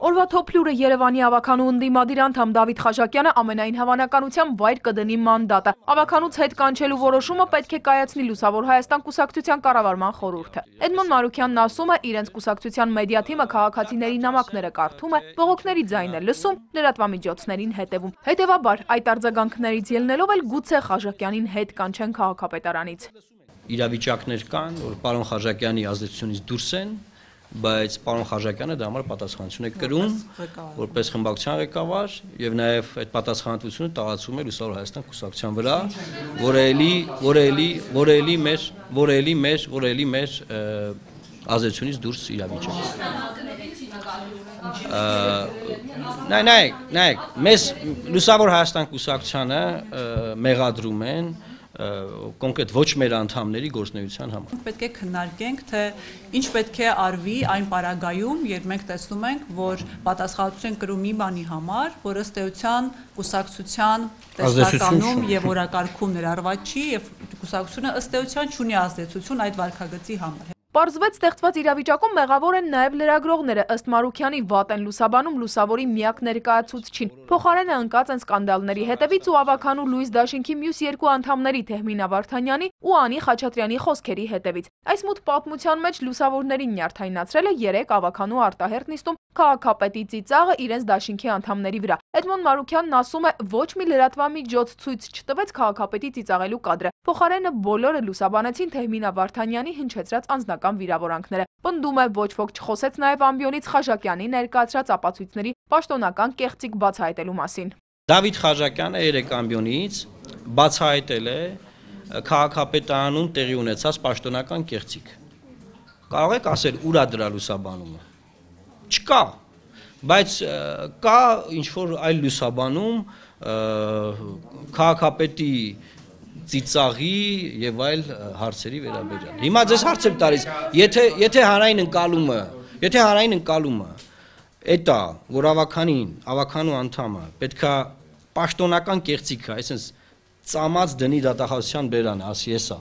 Օրվա թոփլուրը Երևանի ավականու ընդդիմադիր անդամ Դավիթ Խաչատյանը ամենայն հավանականությամբ վայր կդնի մանդատը։ Ավականուց հետ կանչելու որոշումը պետք է կայացնի Լուսավոր Հայաստան կուսակցության կառավարման խորհուրդը։ Էդմոն Մարուքյանն ասում է, իրենց կուսակցության մեդիա թիմը քաղաքացիների նամակները կարդում է, բողոքների ձայն է լսում, լրատվամիջոցներին հետևում։ Հետևաբար, այդ արձագանքներից ելնելով էլ գուցե Խաչատյանին հետ կանչեն քաղաքապետարանից։ Իրավիճակներ կան, որ պարոն Խաչատյանի ազդեցությունից դուրս են, բայց պարոն Խաչատյանը դա համար պատասխանատվություն է կրում որպես խմբակցության ղեկավար եւ նաեւ այդ պատասխանատվությունը տարածում է Լուսավոր Հայաստան կուսակցության վրա, որը էլի մեր ազդեցությունից դուրս իրավիճակ է։ Նայեք, մեզ Լուսավոր Հայաստան կուսակցությանը մեղադրում են կոնկրետ ոչ մեր անդամների գործունեության համար։ Պետք է քննարկենք, թե ինչ պետք է արվի այն պարագայում, երբ մենք տեսնում ենք, որ պատասխանատվություն կրում մի բանի համար, որ ըստ էության կուսակցության տեսլականում եւ օրակարգում ներառված չի եւ կուսակցությունը ըստ էության չունի ազդեցություն այդ վարքագծի համար։ Պարզվեց ստեղծված իրավիճակում մեղավոր են նաև լրագրողները, ըստ Մարուքյանի վատ են լուսաբանում Լուսավորի միակ ներկայացուցչին։ Փոխարենը ընկած են սկանդալների հետևից ու ավականու Լուիս Դաշինքի մյուս երկու անդամների Թեհմինա Վարդանյանի ու Անի Խաչատրյանի խոսքերի հետևից։ Այս մութ պատմության մեջ լուսավորներին նյարդայնացրել է 3 ավականու արտահերտ նիստում քաղաքապետի ծիծաղը իրենց Դաշինքի անդամների վրա։ Էդմոն Մարուքյանն ասում է, ոչ մի լրատվամիջոց ցույց չտվեց քաղաքապետի ծիծաղելու կադրը։ Փոխարենը բոլորը լուսաբանեցին Թեհմինա Վարդանյանի հնչեցրած անձնական վիրավորանքները։ Պնդում է, ոչ ոք չխոսեց նաև ամբիոնից Խաչատյանի ներկայացրած ապացույցների պաշտոնական կեղծիք բացահայտելու մասին։ Դավիթ Խաչատյանը 3 ամբիոնից բացահայտել է քաղաքապետարանում տեղի ունեցած պաշտոնական կեղծիք։ Կարող եք ասել ուր է դրա լուսաբանումը։ Չկա, բայց կա ինչ-որ այլ լուսաբանում քաղաքապետի ծիծաղի եւ այլ հարցերի վերաբերյալ։ Հիմա ձեզ հարց եմ տալիս, եթե հանրային ընկալումը էդ է, որ ավականու անդամը պետքա պաշտոնական կեղծիք, այսինքն ծամած դնի դատախազության բերանը, ասի էսա,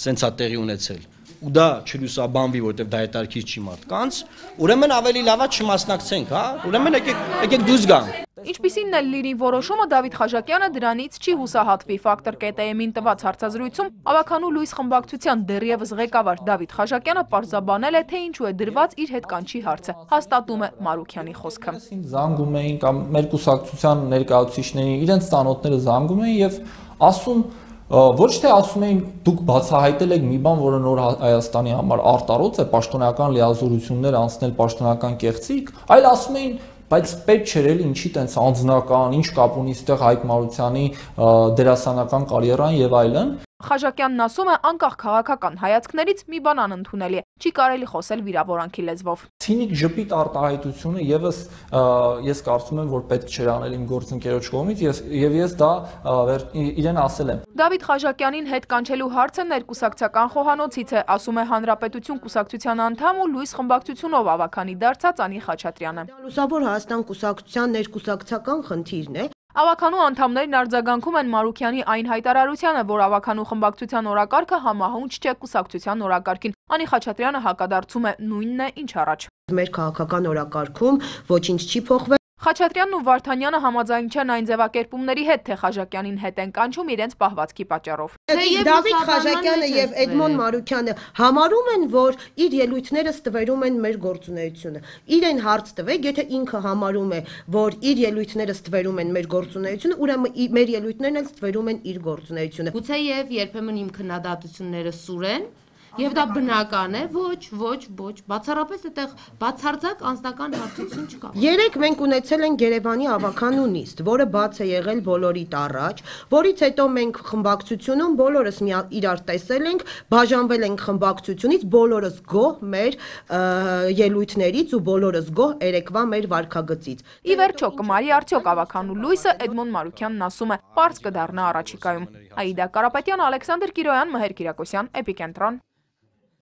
սենց է տեղի ունեցել։ Ու դա չլուսաբանվի, որտեղ դա հետարքիր չի մարդկանց, ուրեմն ավելի լավ է չմասնակցենք, հա? Ուրեմն եկեք դուրս գանք։ Ինչպիսին է լիրի որոշումը, Դավիթ Խաչատյանը դրանից չի հուսահատվի։ Ֆակտոր ԿՏՄ-ին տված հարցազրույցում ավականու Լուիս խմբակցության դեռևս ղեկավար Դավիթ Խաչատյանը պարզաբանել է, թե ինչու է դրված իր հետ կանչի հարցը։ Հաստատում է Մարուքյանի խոսքը։ Զանգում էին կամ մեր կուսակցության ներկայացուցիչներին իրենց ծանոթները զանգում էին եւ ասում ոչ թե ասում էին դուք բացահայտել եք մի բան, որը նոր Հայաստանի համար արտարոց է, պաշտոնական լիազորություններ անցնել պաշտոնական կեղծիք, այլ ասում էին բայց պետք չէր էլի ինչի տենց անձնական, ինչ կապ ունի այստեղ Հայկ Մարությանի դերասանական կարիերան եւ այլն։ Խաչատյանն ասում է, անկախ քաղաքական հայացքներից մի բան անընդունել է, չի կարելի խոսել վիրավորանքի լեզվով։ Ցինիկ ժպիտ արտահայտությունը եւս ես կարծում եմ, որ պետք չէր անել իմ գործընկերոջ կողմից եւ ես դա իրեն ասել եմ։ Դավիթ Խաչատյանին հետ կանչելու հարցը ներկուսակցական խոհանոցից է, ասում է Հանրապետություն կուսակցության անդամ ու Լուիս խմբակցությունով ավականի դարձած Անի Խաչատրյանը։ Լուսավոր Հայաստան կուսակցության ներկուսակցական խնդիրն է։ Ավականու անդամներն արձագանքում են Մարուքյանի այն հայտարարությանը, որ ավականու խմբակցության օրակարգը համահունչ չէ կուսակցության օրակարգին։ Անի Խաչատրյանը հակադարձում է նույնն է, ինչ առաջ։ Մեր քաղաքական օրակարգում ոչինչ չի փոխվել։ Խաչատրյանն ու Վարդանյանը համաձայն չեն այն ձևակերպումների հետ, թե Խաչատյանին հետ են կանչում իրենց պահվածքի պատճառով։ Դավիթ Խաչատյանը եւ Էդմոն Մարուքյանը համարում են, որ իր ելույթները ստվերում են մեր գործունեությունը։ Իրեն հարց տվեք, եթե ինքը համարում է, որ իր ելույթները ստվերում են մեր գործունեությունը, ուրեմն մեր ելույթներն էլ ստվերում են իր գործունեությունը։ Գուցե եւ երբեմն իմ քննադատությունները սուրեն Եվ դա բնական է, ոչ, բացառապես այդտեղ բացարձակ անձնական հարցություն չկա։ Երեք մենք ունեցել ենք Երևանի ավականու նիստ, որը բաց է եղել բոլորիդ առաջ, որից հետո մենք խմբակցությունում բոլորս իրար տեսել ենք, բաժանվել ենք խմբակցությունից, բոլորս գոհ մեր ելույթներից ու բոլորս գոհ երեկվա մեր վարքագծից։ Ի վերջո կմարի արդյոք ավականու լույսը, Էդմոն Մարուքյանն ասում է, պարզ կդառնա առաջիկայում։ Աիդա Կարապետյան, Ալեքսանդր Կիրոյան, Մհեր Կիրակոսյան, Էպիկենտրոն։